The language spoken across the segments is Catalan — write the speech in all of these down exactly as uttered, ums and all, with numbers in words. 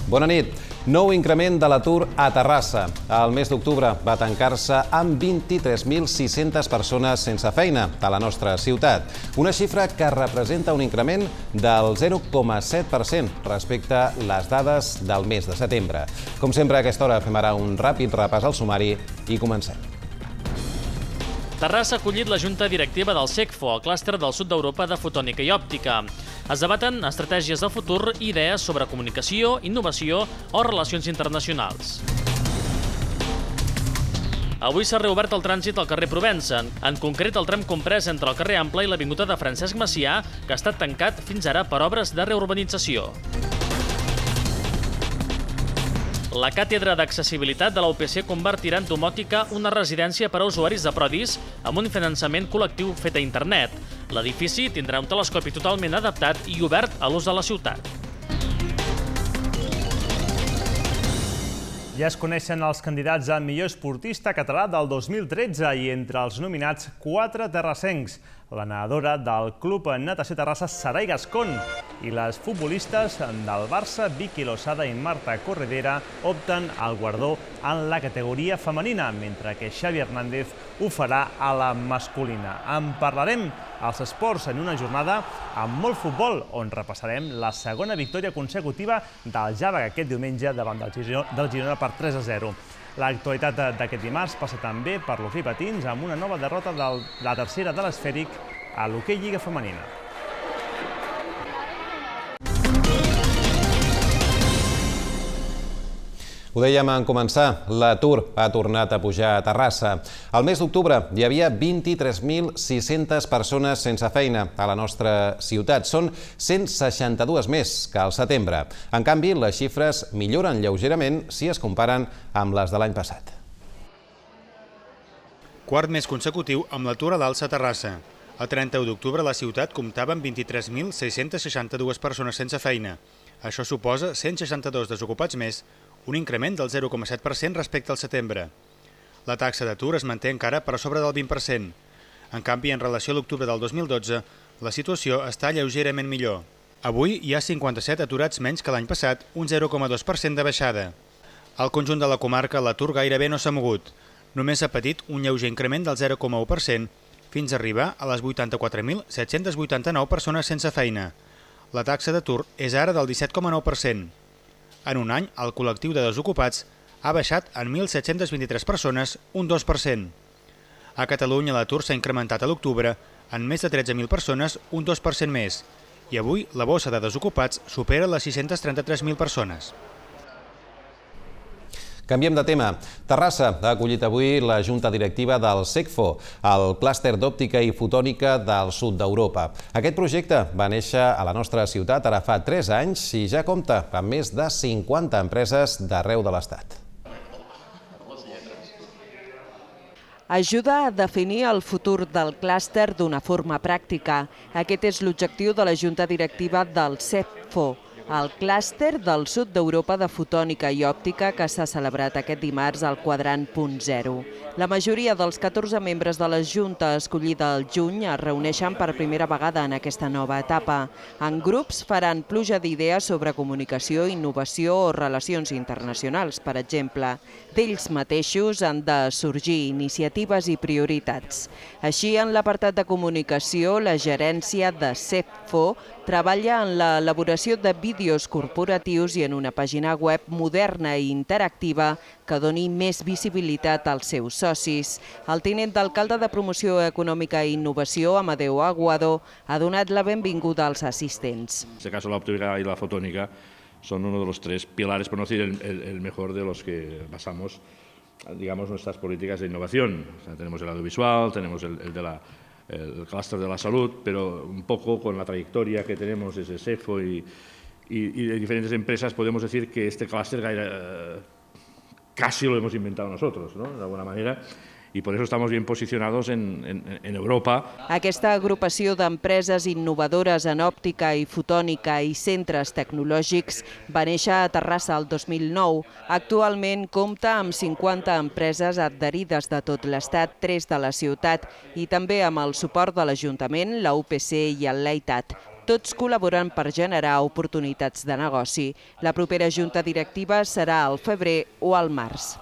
Bona nit. Nou increment de l'atur a Terrassa. El mes d'octubre va tancar-se amb vint-i-tres mil sis-centes persones sense feina a la nostra ciutat. Una xifra que representa un increment del zero coma set per cent respecte a les dades del mes de setembre. Com sempre, a aquesta hora fem ara un ràpid repàs al sumari i comencem. Terrassa ha acollit la junta directiva del SECFO, el clúster del sud d'Europa de fotònica i òptica. Es debaten estratègies de futur i idees sobre comunicació, innovació o relacions internacionals. Avui s'ha reobert el trànsit al carrer Provença, en concret el tram comprès entre el carrer Ample i l'avinguda de Francesc Macià, que ha estat tancat fins ara per obres de reurbanització. La càtedra d'accessibilitat de la U P C convertirà en domòtica una residència per a usuaris de Prodis amb un finançament col·lectiu fet a internet. L'edifici tindrà un telescopi totalment adaptat i obert a l'ús de la ciutat. Ja es coneixen els candidats a millor esportista català del dos mil tretze i entre els nominats quatre terrassencs. La nedadora del Club Natació Terrassa, Sarai Gascón, i les futbolistes del Barça, Vicky Losada i Marta Corredera, opten al guardó en la categoria femenina, mentre que Xavi Hernández ho farà a la masculina. En parlarem als esports en una jornada amb molt futbol, on repassarem la segona victòria consecutiva del Jàvega aquest diumenge davant del Girona per tres a zero. L'actualitat d'aquest dimarts passa també per l'hoquei patins amb una nova derrota de la tercera de l'esfèric a l'hoquei Lliga Femenina. Ho dèiem en començar, l'atur ha tornat a pujar a Terrassa. Al mes d'octubre hi havia vint-i-tres mil sis-centes persones sense feina a la nostra ciutat. Són cent seixanta-dues més que al setembre. En canvi, les xifres milloren lleugerament si es comparen amb les de l'any passat. Quart mes consecutiu amb l'atur a l'alça a Terrassa. El trenta-u d'octubre la ciutat comptava amb vint-i-tres mil sis-centes seixanta-dues persones sense feina. Això suposa cent seixanta-dos desocupats més, un increment del zero coma set per cent respecte al setembre. La taxa d'atur es manté encara per sobre del vint per cent. En canvi, en relació a l'octubre del dos mil dotze, la situació està lleugerament millor. Avui hi ha cinquanta-set aturats menys que l'any passat, un zero coma dos per cent de baixada. Al conjunt de la comarca, l'atur gairebé no s'ha mogut. Només ha patit un lleuger increment del zero coma u per cent, fins a arribar a les vuitanta-quatre mil set-cents vuitanta-nou persones sense feina. La taxa d'atur és ara del disset coma nou per cent. En un any, el col·lectiu de desocupats ha baixat en mil set-cents vint-i-tres persones, un dos per cent. A Catalunya l'atur s'ha incrementat a l'octubre en més de tretze mil persones, un dos per cent més, i avui la bossa de desocupats supera les sis-centes trenta-tres mil persones. Canviem de tema. Terrassa ha acollit avui la junta directiva del SECFO, el clúster d'òptica i fotònica del sud d'Europa. Aquest projecte va néixer a la nostra ciutat ara fa tres anys i ja compta amb més de cinquanta empreses d'arreu de l'Estat. Ajuda a definir el futur del clúster d'una forma pràctica. Aquest és l'objectiu de la junta directiva del SECFO, el clúster del sud d'Europa de fotònica i òptica que s'ha celebrat aquest dimarts al quadrant punt zero. La majoria dels catorze membres de la Junta escollida al juny es reuneixen per primera vegada en aquesta nova etapa. En grups faran pluja d'idees sobre comunicació, innovació o relacions internacionals, per exemple. D'ells mateixos han de sorgir iniciatives i prioritats. Així, en l'apartat de comunicació, la gerència de SECFO treballa en l'elaboració de vídeos corporatius i en una pàgina web moderna i interactiva que doni més visibilitat als seus socis. El tinent d'alcalde de Promoció Econòmica i Innovació, Amadeu Aguado, ha donat la benvinguda als assistents. En este caso, la óptica y la fotónica son uno de los tres pilares, por no decir el, el, el mejor de los que basamos, digamos, nuestras políticas de innovación. O sea, tenemos el audiovisual, tenemos el, el de la el clúster de la salud, pero un poco con la trayectoria que tenemos desde SECFO y, y, y de diferentes empresas podemos decir que este clúster eh, casi lo hemos inventado nosotros, ¿no? De alguna manera, y por eso estamos bien posicionados en, en, en Europa. Aquesta agrupació d'empreses innovadores en òptica i fotònica i centres tecnològics va néixer a Terrassa el dos mil nou. Actualment compta amb cinquanta empreses adherides de tot l'Estat, tres de la ciutat, i també amb el suport de l'Ajuntament, la U P C i el LEITAT. Tots col·laboren per generar oportunitats de negoci. La propera junta directiva serà al febrer o al març.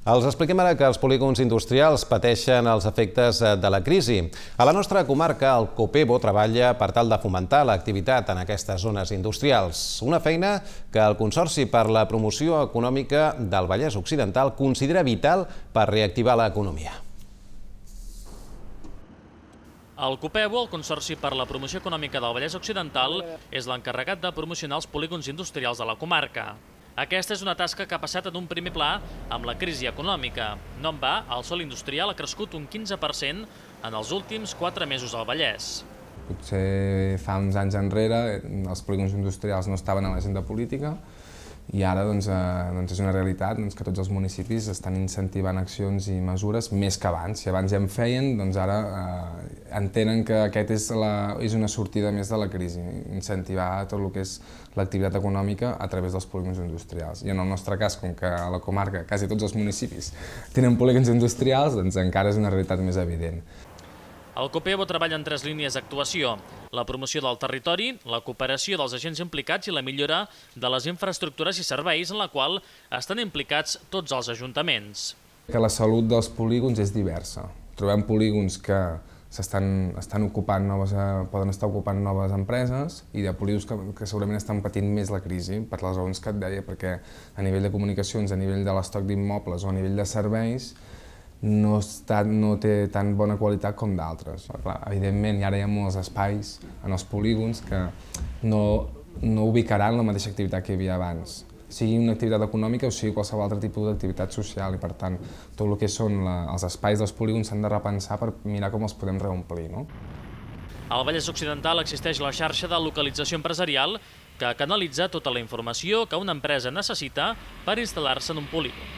Els expliquem ara que els polígons industrials pateixen els efectes de la crisi. A la nostra comarca, el Copebo treballa per tal de fomentar l'activitat en aquestes zones industrials. Una feina que el Consorci per la Promoció Econòmica del Vallès Occidental considera vital per reactivar l'economia. El Copebo, el Consorci per la Promoció Econòmica del Vallès Occidental, és l'encarregat de promocionar els polígons industrials de la comarca. Aquesta és una tasca que ha passat en un primer pla amb la crisi econòmica. No en va, el sòl industrial ha crescut un quinze per cent en els últims quatre mesos al Vallès. Potser fa uns anys enrere els polígons industrials no estaven a l'agenda política i ara doncs, eh, doncs és una realitat doncs, que tots els municipis estan incentivant accions i mesures més que abans. Si abans ja en feien, doncs ara eh, entenen que aquest és, la, és una sortida més de la crisi, incentivar tot el que és l'activitat econòmica a través dels polígons industrials. I en el nostre cas, com que a la comarca quasi tots els municipis tenen polígons industrials, doncs encara és una realitat més evident. El Copebo treballa en tres línies d'actuació: la promoció del territori, la cooperació dels agents implicats i la millora de les infraestructures i serveis en la qual estan implicats tots els ajuntaments. Que la salut dels polígons és diversa. Trobem polígons que s'estan estan ocupant noves, poden estar ocupant noves empreses i de polígons que, que segurament estan patint més la crisi, per les raons que et deia, perquè a nivell de comunicacions, a nivell de l'estoc d'immobles o a nivell de serveis, no, està, no té tan bona qualitat com d'altres. Evidentment, ara hi ha molts espais en els polígons que no, no ubicaran la mateixa activitat que hi havia abans, sigui una activitat econòmica o sigui qualsevol altre tipus d'activitat social, i per tant, tot el que són la, els espais dels polígons s'han de repensar per mirar com els podem reomplir. No? Al Vallès Occidental existeix la xarxa de localització empresarial que canalitza tota la informació que una empresa necessita per instal·lar-se en un polígon.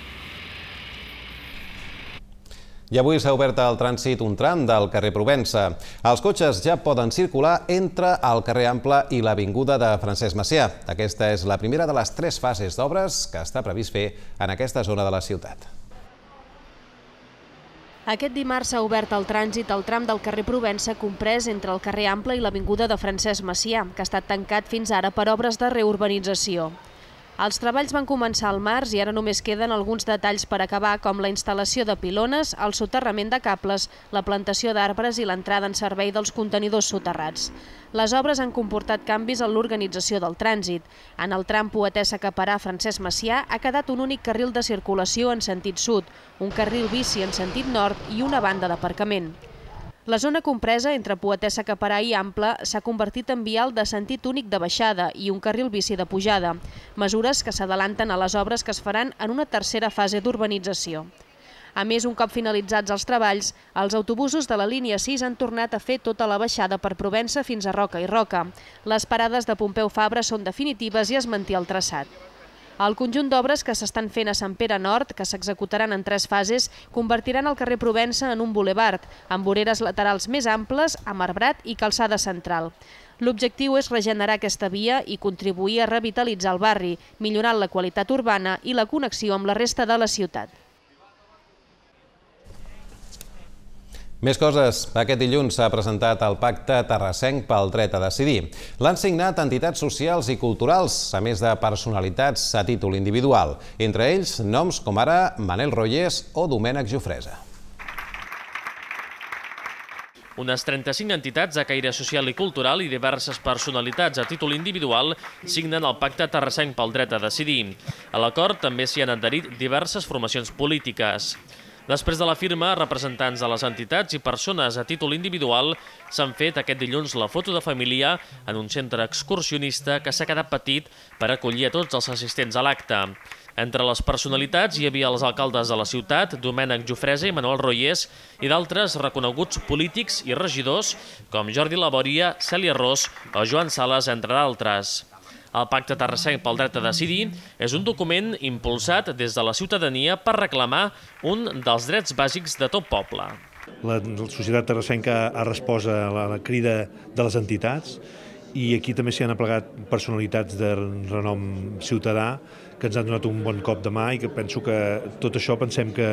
I avui s'ha obert al trànsit un tram del carrer Provença. Els cotxes ja poden circular entre el carrer Ample i l'avinguda de Francesc Macià. Aquesta és la primera de les tres fases d'obres que està previst fer en aquesta zona de la ciutat. Aquest dimarts s'ha obert al trànsit el tram del carrer Provença comprès entre el carrer Ample i l'avinguda de Francesc Macià, que ha estat tancat fins ara per obres de reurbanització. Els treballs van començar al març i ara només queden alguns detalls per acabar, com la instal·lació de pilones, el soterrament de cables, la plantació d'arbres i l'entrada en servei dels contenidors soterrats. Les obres han comportat canvis en l'organització del trànsit. En el tram Poetessa-Caparà-Francesc Macià ha quedat un únic carril de circulació en sentit sud, un carril bici en sentit nord i una banda d'aparcament. La zona compresa entre Poetessa-Caparà i Ample s'ha convertit en vial de sentit únic de baixada i un carril bici de pujada, mesures que s'adelanten a les obres que es faran en una tercera fase d'urbanització. A més, un cop finalitzats els treballs, els autobusos de la línia sis han tornat a fer tota la baixada per Provença fins a Roca i Roca. Les parades de Pompeu Fabra són definitives i es manté el traçat. El conjunt d'obres que s'estan fent a Sant Pere Nord, que s'executaran en tres fases, convertiran el carrer Provença en un bulevard, amb voreres laterals més amples, amb arbrat i calçada central. L'objectiu és regenerar aquesta via i contribuir a revitalitzar el barri, millorant la qualitat urbana i la connexió amb la resta de la ciutat. Més coses. Aquest dilluns s'ha presentat el Pacte Terrassenc pel dret a decidir. L'han signat entitats socials i culturals, a més de personalitats a títol individual. Entre ells, noms com ara Manel Royes o Domènec Jofresa. Unes trenta-cinc entitats de caire social i cultural i diverses personalitats a títol individual signen el Pacte Terrassenc pel dret a decidir. A l'acord també s'hi han adherit diverses formacions polítiques. Després de la firma, representants de les entitats i persones a títol individual s'han fet aquest dilluns la foto de família en un centre excursionista que s'ha quedat petit per acollir a tots els assistents a l'acte. Entre les personalitats hi havia els alcaldes de la ciutat, Domènec Jofresa i Manuel Royes, i d'altres reconeguts polítics i regidors com Jordi Labòria, Cèlia Ros o Joan Sales, entre d'altres. El Pacte Terrassenc pel dret a decidir és un document impulsat des de la ciutadania per reclamar un dels drets bàsics de tot poble. La societat terrassenca ha respost a la crida de les entitats i aquí també s'hi han aplegat personalitats de renom ciutadà que ens han donat un bon cop de mà i que penso que tot això pensem que,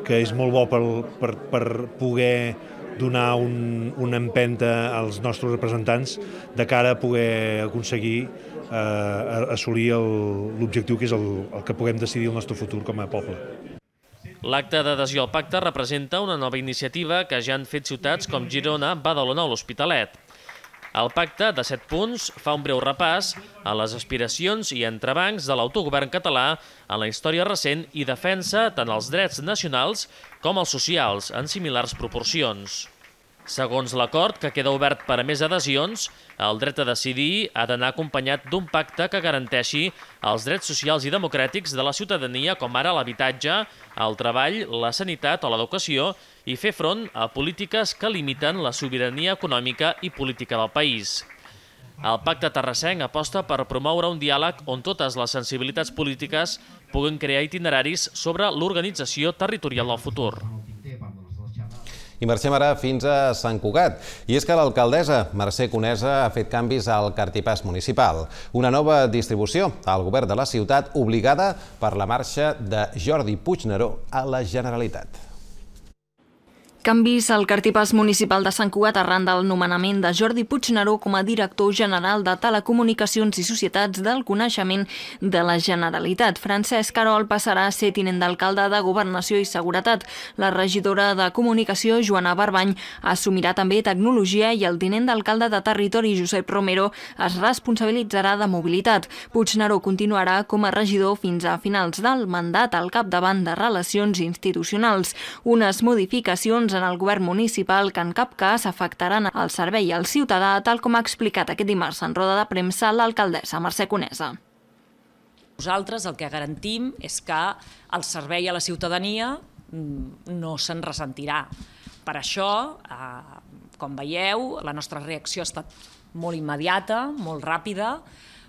que és molt bo per, per, per poder donar un, una empenta als nostres representants de cara a poder aconseguir eh, assolir l'objectiu que és el, el que puguem decidir el nostre futur com a poble. L'acte d'adhesió al pacte representa una nova iniciativa que ja han fet ciutats com Girona, Badalona o l'Hospitalet. El pacte, de set punts, fa un breu repàs a les aspiracions i entrebancs de l'autogovern català en la història recent i defensa tant els drets nacionals com els socials en similars proporcions. Segons l'acord, que queda obert per a més adhesions, el dret a decidir ha d'anar acompanyat d'un pacte que garanteixi els drets socials i democràtics de la ciutadania, com ara l'habitatge, el treball, la sanitat o l'educació, i fer front a polítiques que limiten la sobirania econòmica i política del país. El pacte terrassenc aposta per promoure un diàleg on totes les sensibilitats polítiques puguin crear itineraris sobre l'organització territorial del futur. I marxem ara fins a Sant Cugat. I és que l'alcaldessa Mercè Conesa ha fet canvis al cartipàs municipal. Una nova distribució al govern de la ciutat obligada per la marxa de Jordi Puigneró a la Generalitat. Canvis al cartipàs municipal de Sant Cugat arran del nomenament de Jordi Puigneró com a director general de Telecomunicacions i Societats del Coneixement de la Generalitat. Francesc Carol passarà a ser tinent d'alcalde de Governació i Seguretat. La regidora de Comunicació, Joana Barbany, assumirà també Tecnologia i el tinent d'alcalde de Territori, Josep Romero, es responsabilitzarà de Mobilitat. Puigneró continuarà com a regidor fins a finals del mandat al capdavant de Relacions Institucionals. Unes modificacions en el govern municipal que en cap cas afectaran el servei al ciutadà, tal com ha explicat aquest dimarts en roda de premsa l'alcaldessa Mercè Conesa. Nosaltres el que garantim és que el servei a la ciutadania no se'n ressentirà. Per això, com veieu, la nostra reacció ha estat molt immediata, molt ràpida,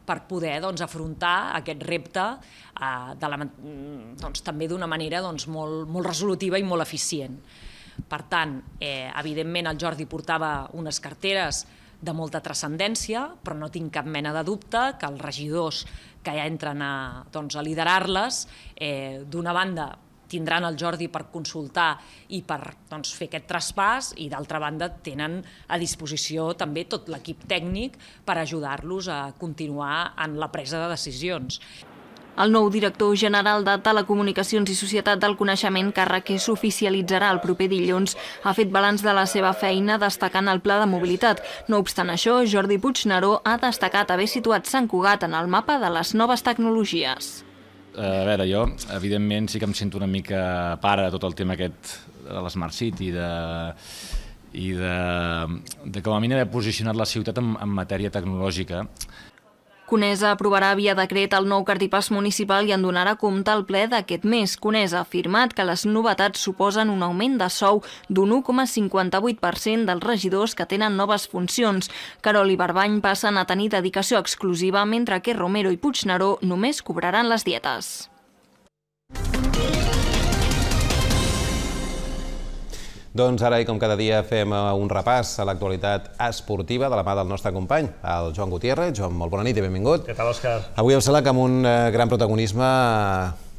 per poder afrontar aquest repte també d'una manera molt resolutiva i molt eficient. Per tant, evidentment el Jordi portava unes carteres de molta transcendència, però no tinc cap mena de dubte que els regidors que ja entren a liderar-les, d'una banda tindran el Jordi per consultar i per fer aquest traspàs i d'altra banda tenen a disposició també tot l'equip tècnic per ajudar-los a continuar en la presa de decisions. El nou director general de Telecomunicacions i Societat del Coneixement, càrrec que s'oficialitzarà el proper dilluns, ha fet balanç de la seva feina destacant el pla de mobilitat. No obstant això, Jordi Puigneró ha destacat haver situat Sant Cugat en el mapa de les noves tecnologies. A veure, jo, evidentment, sí que em sento una mica pare de tot el tema aquest de l'Smart City i de com a mínim haver posicionat la ciutat en matèria tecnològica. Conesa aprovarà via decret el nou cartipàs municipal i en donarà compte al ple d'aquest mes. Conesa ha afirmat que les novetats suposen un augment de sou d'un u coma cinquanta-vuit per cent dels regidors que tenen noves funcions. Carol i Barbany passen a tenir dedicació exclusiva, mentre que Romero i Puigneró només cobraran les dietes. Doncs ara, i com cada dia, fem un repàs a l'actualitat esportiva de la mà del nostre company, el Joan Gutiérrez. Joan, molt bona nit i benvingut. Què tal, Òscar? Avui em sembla que amb un gran protagonisme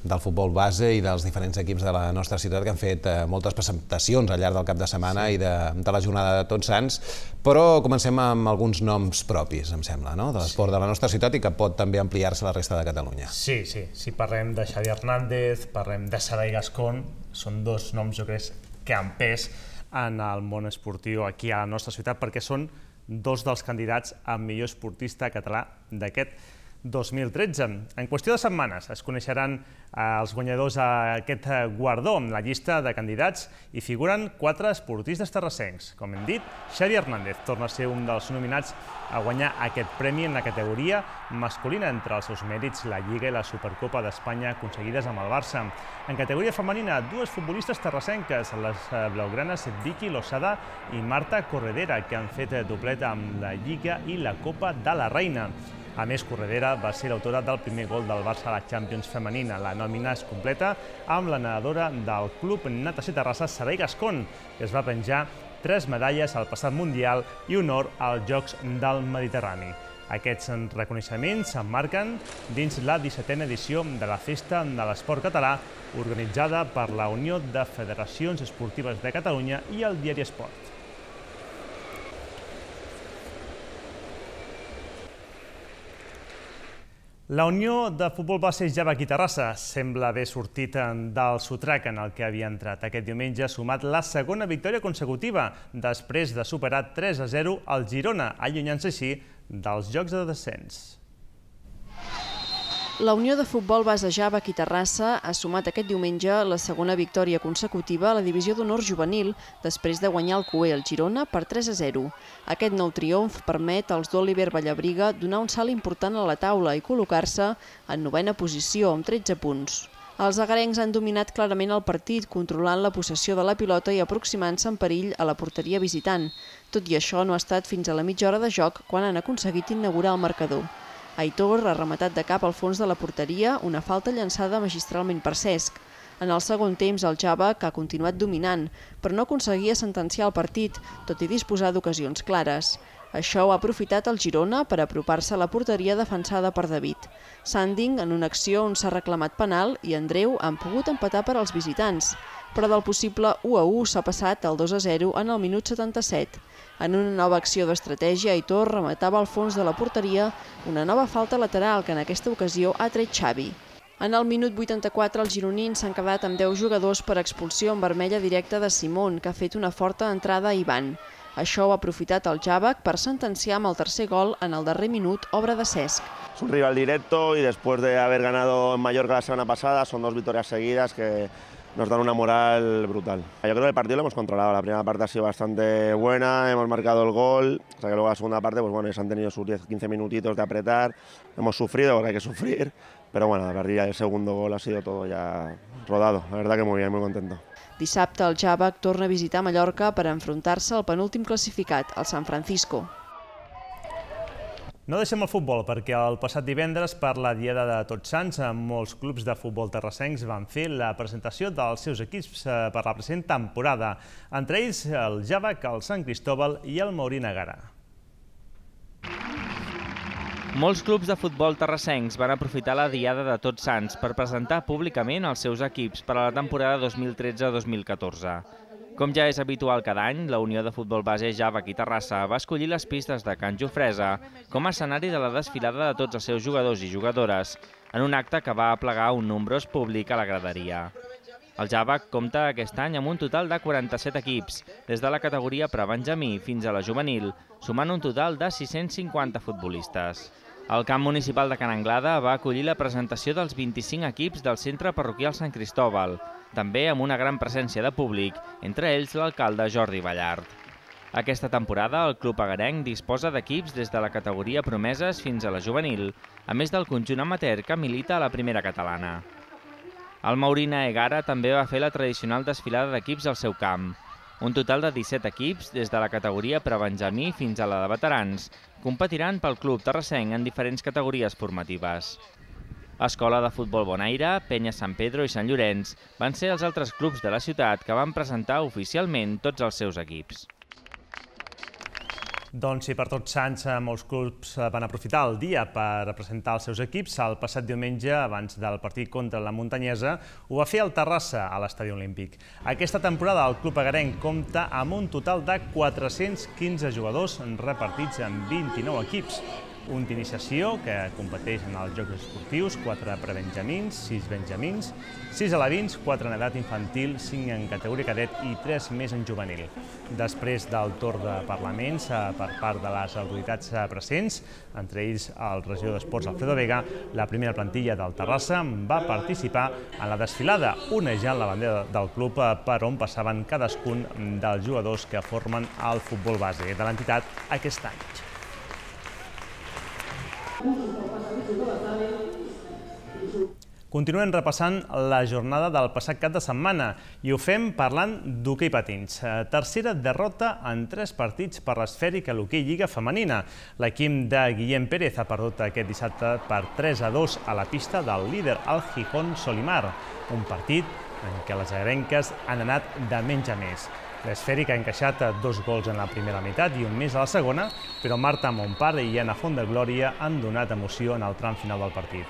del futbol base i dels diferents equips de la nostra ciutat que han fet moltes presentacions al llarg del cap de setmana i de la jornada de Tots Sants, però comencem amb alguns noms propis, em sembla, de l'esport de la nostra ciutat i que pot també ampliar-se a la resta de Catalunya. Sí, sí. Si parlem de Xavi Hernández, parlem de Sarai Gascón, són dos noms, jo crec, que han pes en el món esportiu aquí a la nostra ciutat, perquè són dos dels candidats a millor esportista català d'aquest dos mil tretze. En qüestió de setmanes es coneixeran els guanyadors d'aquest guardó. En la llista de candidats hi figuren quatre esportistes terrassencs. Com hem dit, Xavi Hernández torna a ser un dels nominats a guanyar aquest premi en la categoria masculina, entre els seus mèrits la Lliga i la Supercopa d'Espanya aconseguides amb el Barça. En categoria femenina, dues futbolistes terrassenques, les blaugranes Vicky Losada i Marta Corredera, que han fet doblet amb la Lliga i la Copa de la Reina. A més, Corredera va ser l'autora del primer gol del Barça a la Champions femenina. La nòmina es completa amb la nedadora del Club Natació Terrassa, Sarai Gascón, que es va penjar tres medalles al passat Mundial i un or als Jocs del Mediterrani. Aquests reconeixements s'emmarquen dins la dissetena edició de la Festa de l'Esport Català, organitzada per la Unió de Federacions Esportives de Catalunya i el diari Esport. La Unió de Futbol Base Javac i Terrassa sembla haver sortit del sotrac en el que havia entrat. Aquest diumenge ha sumat la segona victòria consecutiva després de superar tres a zero al Girona, allunyant-se així dels jocs de descens. La Unió de Futbol Base Javac i Terrassa ha sumat aquest diumenge la segona victòria consecutiva a la divisió d'honor juvenil després de guanyar el Cué al Girona per tres a zero. Aquest nou triomf permet als d'Oliver Vallabriga donar un salt important a la taula i col·locar-se en novena posició amb tretze punts. Els agarencs han dominat clarament el partit, controlant la possessió de la pilota i aproximant-se en perill a la porteria visitant. Tot i això, no ha estat fins a la mitja hora de joc quan han aconseguit inaugurar el marcador. Aitor ha rematat de cap al fons de la porteria, una falta llançada magistralment per Cesc. En el segon temps, el Javac ha continuat dominant, però no aconseguia sentenciar el partit, tot i disposar d'ocasions clares. Això ho ha aprofitat el Girona per apropar-se a la porteria defensada per David. Sanding, en una acció on s'ha reclamat penal, i Andreu han pogut empatar per als visitants, però del possible u a u s'ha passat al dos a zero en el minut setanta-set. En una nova acció d'estratègia, Aitor rematava al fons de la porteria una nova falta lateral que en aquesta ocasió ha tret Xavi. En el minut vuitanta-quatre, els gironins s'han quedat amb deu jugadors per expulsió en vermella directa de Simón, que ha fet una forta entrada a Ivan. Això ho ha aprofitat el Javac per sentenciar amb el tercer gol en el darrer minut, obra de Cesc. Es un rival directo y después de haber ganado en Mallorca la semana pasada, son dos victorias seguidas que nos dan una moral brutal. Yo creo que el partido lo hemos controlado, la primera parte ha sido bastante buena, hemos marcado el gol, o sea que luego la segunda parte, pues bueno, ellos han tenido sus diez a quince minutitos de apretar, hemos sufrido porque hay que sufrir, pero bueno, a partir del segundo gol ha sido todo ya rodado, la verdad que muy bien, muy contento. Dissabte el Javac torna a visitar Mallorca per enfrontar-se al penúltim classificat, el San Francisco. No deixem el futbol perquè el passat divendres, per la Diada de Tots Sants, molts clubs de futbol terrassencs van fer la presentació dels seus equips per la present temporada, entre ells el Javac, el Sant Cristóbal i el Maurí Negara. Molts clubs de futbol terrassencs van aprofitar la Diada de Tots Sants per presentar públicament els seus equips per a la temporada dos mil tretze dos mil catorze. Com ja és habitual cada any, la Unió de Futbol Base Javac i Terrassa va escollir les pistes de Can Jofresa com a escenari de la desfilada de tots els seus jugadors i jugadores, en un acte que va aplegar un nombrós públic a la graderia. El Javac compta aquest any amb un total de quaranta-set equips, des de la categoria prebenjamí fins a la juvenil, sumant un total de sis-cents cinquanta futbolistes. El camp municipal de Can Anglada va acollir la presentació dels vint-i-cinc equips del Centre Parroquial Sant Cristóbal, també amb una gran presència de públic, entre ells l'alcalde Jordi Ballart. Aquesta temporada el club agarenc disposa d'equips des de la categoria promeses fins a la juvenil, a més del conjunt amateur que milita a la primera catalana. El Maurí Negara també va fer la tradicional desfilada d'equips al seu camp. Un total de disset equips, des de la categoria prebenjamí fins a la de veterans, competiran pel club terrassenc en diferents categories formatives. Escola de Futbol Bonaire, Penya Sant Pedro i Sant Llorenç van ser els altres clubs de la ciutat que van presentar oficialment tots els seus equips. Doncs sí, per Tots Sants, molts clubs van aprofitar el dia per presentar els seus equips. El passat diumenge, abans del partit contra la Muntanyesa, ho va fer el Terrassa a l'Estadi Olímpic. Aquesta temporada el club agarenc compta amb un total de quatre-cents quinze jugadors repartits en vint-i-nou equips. Un d'iniciació que competeix en els jocs esportius, quatre prebenjamins, sis benjamins, sis alevins, quatre en edat infantil, cinc en categoria cadet i tres més en juvenil. Després del torn de parlaments per part de les autoritats presents, entre ells el regidor d'Esports Alfredo Vega, la primera plantilla del Terrassa va participar en la desfilada, onejant la bandera del club per on passaven cadascun dels jugadors que formen el futbol base de l'entitat aquest any. Continuem repassant la jornada del passat cap de setmana i ho fem parlant d'hoquei patins. Tercera derrota en tres partits per l'esfèrica a l'hoquei Lliga Femenina. L'equip de Guillem Pérez ha perdut aquest dissabte per tres a dos a la pista del líder, el Gijón Solimar. Un partit en què les agrenques han anat de menys a més. L'esfèrica ha encaixat dos gols en la primera meitat i un més a la segona, però Marta Montpar i Anna Font de Glòria han donat emoció en el tram final del partit.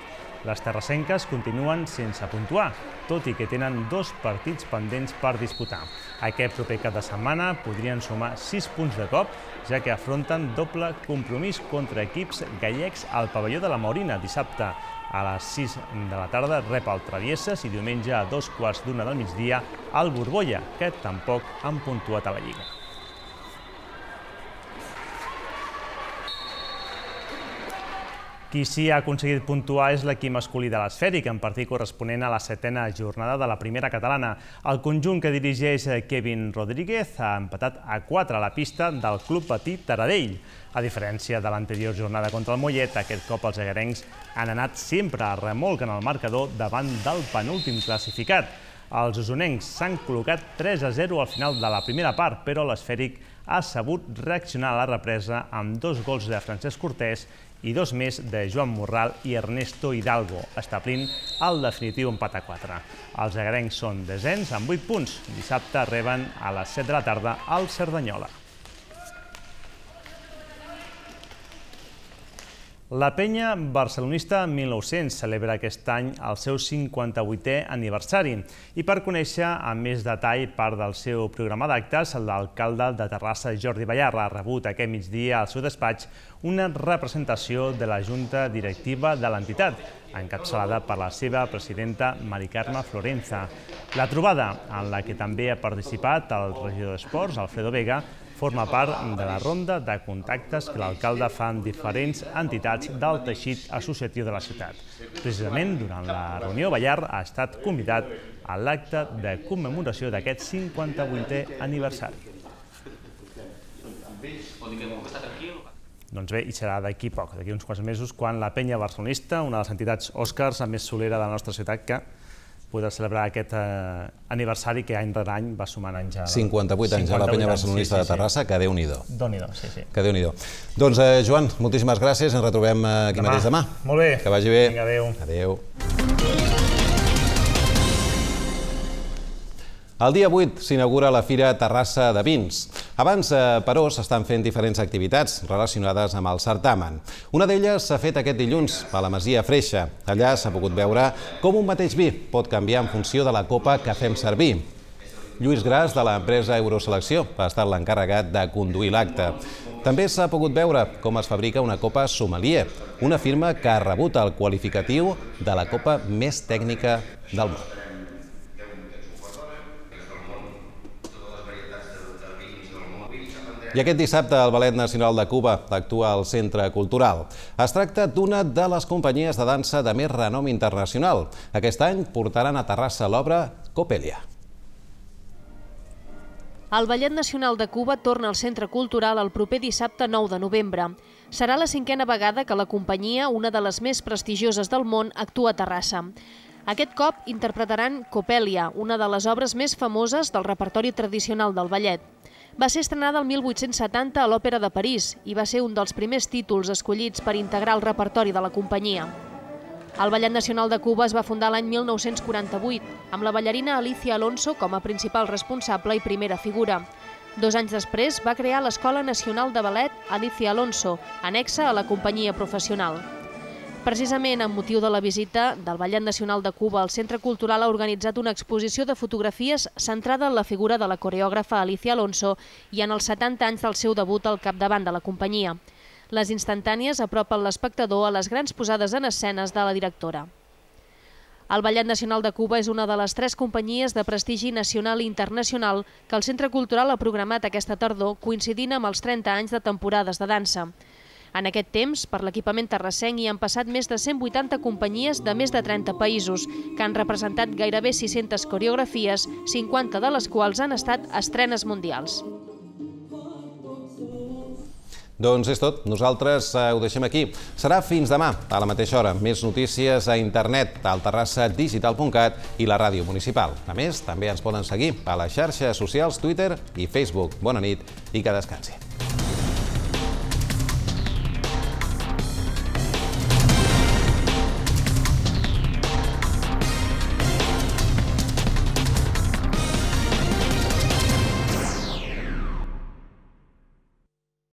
Les terrassenques continuen sense puntuar, tot i que tenen dos partits pendents per disputar. Aquest proper cap de setmana podrien sumar sis punts de cop, ja que afronten doble compromís contra equips gallecs al pavelló de la Maurina. Dissabte a les sis de la tarda rep el Travieses i diumenge a dos quarts d'una del migdia el Borbolla, que tampoc han puntuat a la Lliga. Qui sí ha aconseguit puntuar és l'equip masculí de l'Esfèric, en partit corresponent a la setena jornada de la primera catalana. El conjunt que dirigeix Kevin Rodríguez ha empatat a quatre a la pista del Club Patí Taradell. A diferència de l'anterior jornada contra el Mollet, aquest cop els egarencs han anat sempre a remolc en el marcador davant del penúltim classificat. Els osonencs s'han col·locat tres a zero al final de la primera part, però l'Esfèric ha sabut reaccionar a la represa amb dos gols de Francesc Cortés i dos més de Joan Morral i Ernesto Hidalgo, establint el definitiu empat a quatre. Els egarencs són desens amb vuit punts. Dissabte reben a les set de la tarda al Cerdanyola. La penya barcelonista mil nou-cents celebra aquest any el seu cinquanta-vuitè aniversari i per conèixer amb més detall part del seu programa d'actes, l'alcalde de Terrassa, Jordi Ballarra, ha rebut aquest migdia al seu despatx una representació de la Junta Directiva de l'entitat, encapçalada per la seva presidenta Mari Carme Florenza. La trobada, en la que també ha participat el regidor d'Esports, Alfredo Vega, forma part de la ronda de contactes que l'alcalde fa amb diferents entitats del teixit associatiu de la ciutat. Precisament, durant la reunió, Ballar ha estat convidat a l'acte de commemoració d'aquest cinquanta-vuitè aniversari. Doncs bé, i serà d'aquí poc, d'aquí uns quants mesos, quan la penya barcelonista, una de les entitats Oscars més solera de la nostra ciutat, que podrà celebrar aquest aniversari que any rere any va sumant anys. cinquanta-vuit anys a la penya barcelonista de Terrassa, que Déu-n'hi-do. Déu-n'hi-do, sí, sí. Que Déu-n'hi-do. Doncs, Joan, moltíssimes gràcies, ens retrobem aquí mateix demà. Molt bé. Que vagi bé. Vinga, adéu. Adéu. El dia vuit s'inaugura la Fira Terrassa de Vins. Abans, però, s'estan fent diferents activitats relacionades amb el certamen. Una d'elles s'ha fet aquest dilluns a la Masia Freixa. Allà s'ha pogut veure com un mateix vi pot canviar en funció de la copa que fem servir. Lluís Gras, de l'empresa Euroselecció, ha estat l'encarregat de conduir l'acte. També s'ha pogut veure com es fabrica una copa sommelier, una firma que ha rebut el qualificatiu de la copa més tècnica del món. I aquest dissabte el Ballet Nacional de Cuba actua al Centre Cultural. Es tracta d'una de les companyies de dansa de més renom internacional. Aquest any portaran a Terrassa l'obra Coppelia. El Ballet Nacional de Cuba torna al Centre Cultural el proper dissabte nou de novembre. Serà la cinquena vegada que la companyia, una de les més prestigioses del món, actua a Terrassa. Aquest cop interpretaran Coppelia, una de les obres més famoses del repertori tradicional del ballet. Va ser estrenada el mil vuit-cents setanta a l'Òpera de París i va ser un dels primers títols escollits per integrar el repertori de la companyia. El Ballet Nacional de Cuba es va fundar l'any mil nou-cents quaranta-vuit, amb la ballarina Alicia Alonso com a principal responsable i primera figura. Dos anys després va crear l'Escola Nacional de Ballet Alicia Alonso, anexa a la companyia professional. Precisament amb motiu de la visita del Ballet Nacional de Cuba, el Centre Cultural ha organitzat una exposició de fotografies centrada en la figura de la coreògrafa Alicia Alonso i en els setanta anys del seu debut al capdavant de la companyia. Les instantànies apropen l'espectador a les grans posades en escenes de la directora. El Ballet Nacional de Cuba és una de les tres companyies de prestigi nacional i internacional que el Centre Cultural ha programat aquesta tardor, coincidint amb els trenta anys de temporades de dansa. En aquest temps, per l'equipament terrassenc hi han passat més de cent vuitanta companyies de més de trenta països, que han representat gairebé sis-centes coreografies, cinquanta de les quals han estat estrenes mundials. Doncs és tot. Nosaltres ho deixem aquí. Serà fins demà, a la mateixa hora. Més notícies a internet, al terrassa digital punt cat i la ràdio municipal. A més, també ens poden seguir a les xarxes socials Twitter i Facebook. Bona nit i que descansi.